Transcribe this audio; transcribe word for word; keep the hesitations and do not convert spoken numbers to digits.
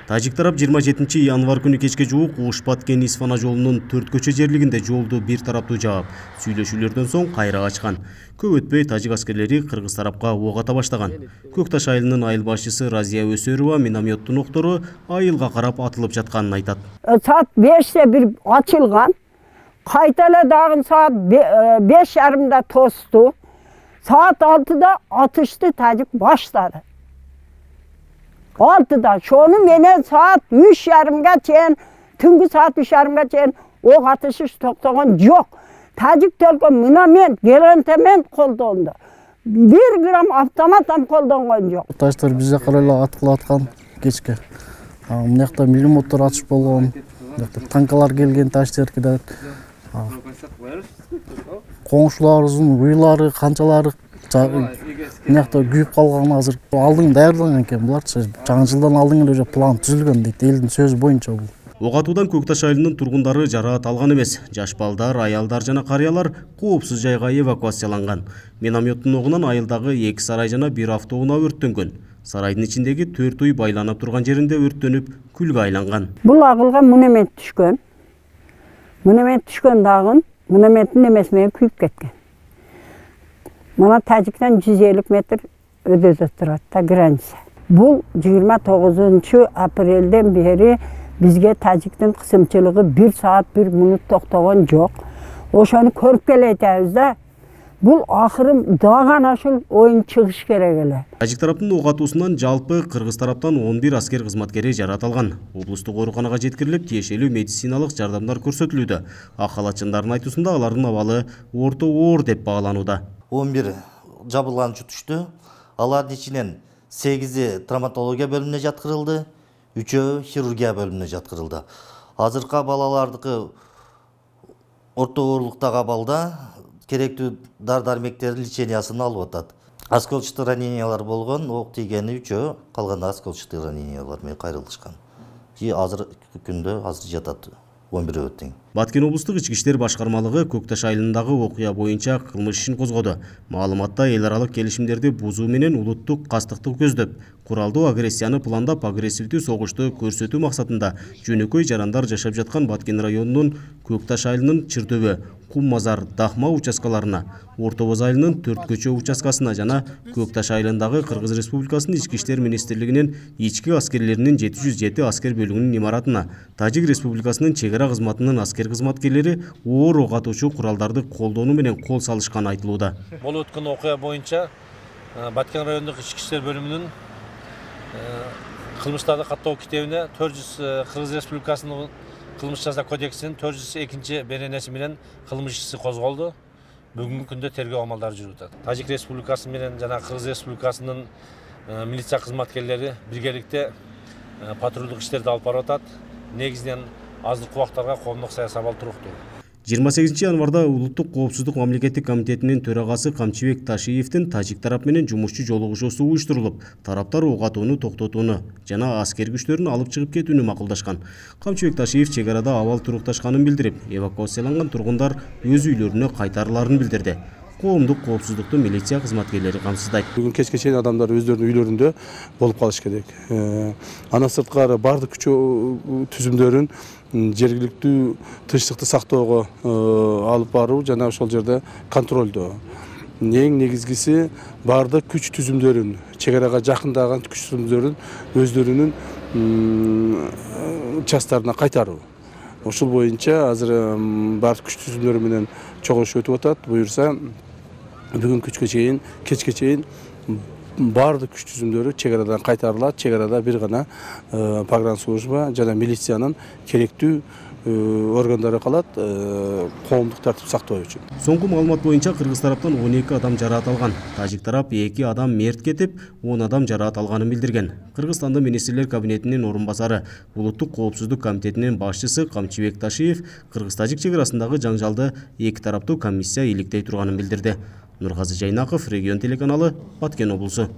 Тажик тарап жыйырма жетинчи январь күнү кечке жуук Уш-Баткен-Исфана жолунун төрт көчө жерлигинде жолду бир тараптуу жаап, сүйлөшүүлөрдөн соң кайра ачкан. Көп өтпөй тажик аскерлери кыргыз тарапка ок ата баштаган. Көк Таш айылынын айыл башчысы Разия Өсөрова минометтун октору айылга карап атылып жатканын айтат. Саат беште бир ачылган. Кайта эле дагы саат беш жарымда тосту. Саат алтыда атышты тажик баштады. Altıda, şonu menen saat üç yarımga çeyin, tüngü saat üç yarımga çeyin ok atışı toktogон yok. Tacik tölkö minamen, gerentemen koldoğunda. Bir gram avtomat ham koldoğon yok. Taşlar bize karayla atkılı atkan geçke. Mınakta milimottor atış bolgon, tankalar gelgen taşlar gider. Koңшуларыбыздын уйлары, канчалары мынакта күйүп калган азыр алдың даярданган экен буларчы жаңы жылдан алдың эле уже план түзүлгөн дейт элдин сөзү боюнча бул. Ок атуудан Көк Таш айылынын тургундары жараат алган эмес. Жаш балдар, аялдар жана карыялар коопсуз жайга эвакуацияланган. Минометтун огунан айылдагы эки сарай жана бир автоунаа өрттөнгөн. Сарайдын ичиндеги төрт үй байланып турган жеринде өрттөнүп күлгө айланган. Бул агылга миномет түшкөн. Миномет түшкөн дагы минометтин эмеси менен күйүп кеткен. Мана Тажиктен жүз элүү метр өдөдө турат да граница. Бул жыйырма тогузунчу апрелден бери бизге Тажиктин кысымчылыгы бир саат бир мүнөт токтогон жок. Ошону көрүп келетебиз да. Бул акыры дагы ашыл оюн чыгыш керек эле. Тажик тараптын ок атуусунан жалпы кыргыз тараптан он бир аскер кызматкери жараат алган. Облустук ооруканага жеткирилип, тиешелүү медициналык жардамдар көрсөтүлүүдө. Ак халатчындардын айтуусунда алардын абалы орто оор деп бааланууда. он бир жабылганчы түштү. Алардын ичинен сегизи травматология бөлүмүнө жаткырылды, үчөө хирургия бөлүмүнө жаткырылды. Азыркы балалардыкы орто оорлуктагы абалда керектүү дар-дармектердин лечениясын алып атат. Осколочный ранениялар болгон, ок тийгени үчөө, калганда осколочный ранениялар менен кайрылышкан. И азыр күндө азыр жатат. он бир өттүң. Баткен облустук ички иштер башкармалыгы Көк Таш айылындагы окуя боюнча кылмыш ишин козгоду. Маалыматта эл аралык келишимдерди бузуу менен улуттук кастыктык көздөп, куралдуу агрессияны пландап агрессивдүү согушту көрсөтүү максатында жөнөкөй жарандар жашап жаткан Баткен районунун Көк Таш айылынын Чырдөбө, Кум Мазар, Дахма участкаларына, Орто Боз айылынын төрт көчө участкасына жана Көк Таш айылындагы Кыргыз Республикасынын ички иштер министрлигинин ички аскерлеринин жети жүз жети аскер бөлүгүнүн имаратына, Тажик Республикасынын чегара кызматынын аскер кызматкерлери оор ок атуучу куралдарды колдонуу менен кол салышканы айтылууда. Болуп өткөн окуя боюнча Баткен райондук ички иштер бөлүмүнүн кылмыштарды каттоо китебине төрт жүз Кыргыз Республикасынын кылмыш жаза кодексинин төрт жүз экинчи беренеси менен кылмыш иши козголду. Бүгүнкү күндө тергөө амалдары жүрүп атат. Тажик Республикасы менен жана Кыргыз Республикасынын милиция кызматкерлери биргеликте патрулдук иштерди алып барып атат. Негизинен аздык убактарга коомдук саясий абал туруктуу. жыйырма сегизинчи январда Улуттук коопсуздук мамлекеттик комитетинин төрагасы Камчыбек Ташиевдин Тажик тарап менен жумушчу жолугушуусу уюштурулуп, тараптар ок атууну токтотууну жана аскер күчтөрүн алып чыгып кетүүнү макулдашкан. Камчыбек Ташиев чек арада абал турукташканын билдирип, эвакуацияланган тургундар өз үйлөрүнө кайтарыларын билдирди. Коомдук коопсуздукту милиция кызматкерлери камсыздайт. Бүгүн кечке чейин адамдар өздөрүнүн үйлөрүндө болуп калыш керек. Андан сырткары бардык күчө түзүмдөрүн жергиликтүү тынчтыкты сактоого алып баруу жана ошол жерде контролдоо. Эң негизгиси бардык күч түзүмдөрүн, чек арага жакындаган күч түзүмдөрүн өздөрүнүн частарына кайтаруу. Ошол боюнча азыр бардык күч түзүмдөрү менен чогулуш өтүп атат. Буюрса бүгүн күчкө чейин, кечке чейин бардык күч түзүмдөрү чек арадан кайтарылат. Чек арада бир гана погранслужба жана милициянын керектүү органдары калат коомдук тартип сактоо үчүн. Соңку маалымат боюнча Кыргыз тараптан он эки адам жараат алган. Тажик тарап эки адам мерт кетип, он адам жараат алганын билдирген. Кыргызстанда министрлер кабинетинин орун басары, Улуттук коопсуздук комитетинин башчысы Камчыбек Ташиев Кыргыз-Тажик чек арасындагы жаңжалды эки тараптуу комиссия иликтей турганын билдирди. Нургазы Жайнаков, Регион телеканалы, Баткен облусу.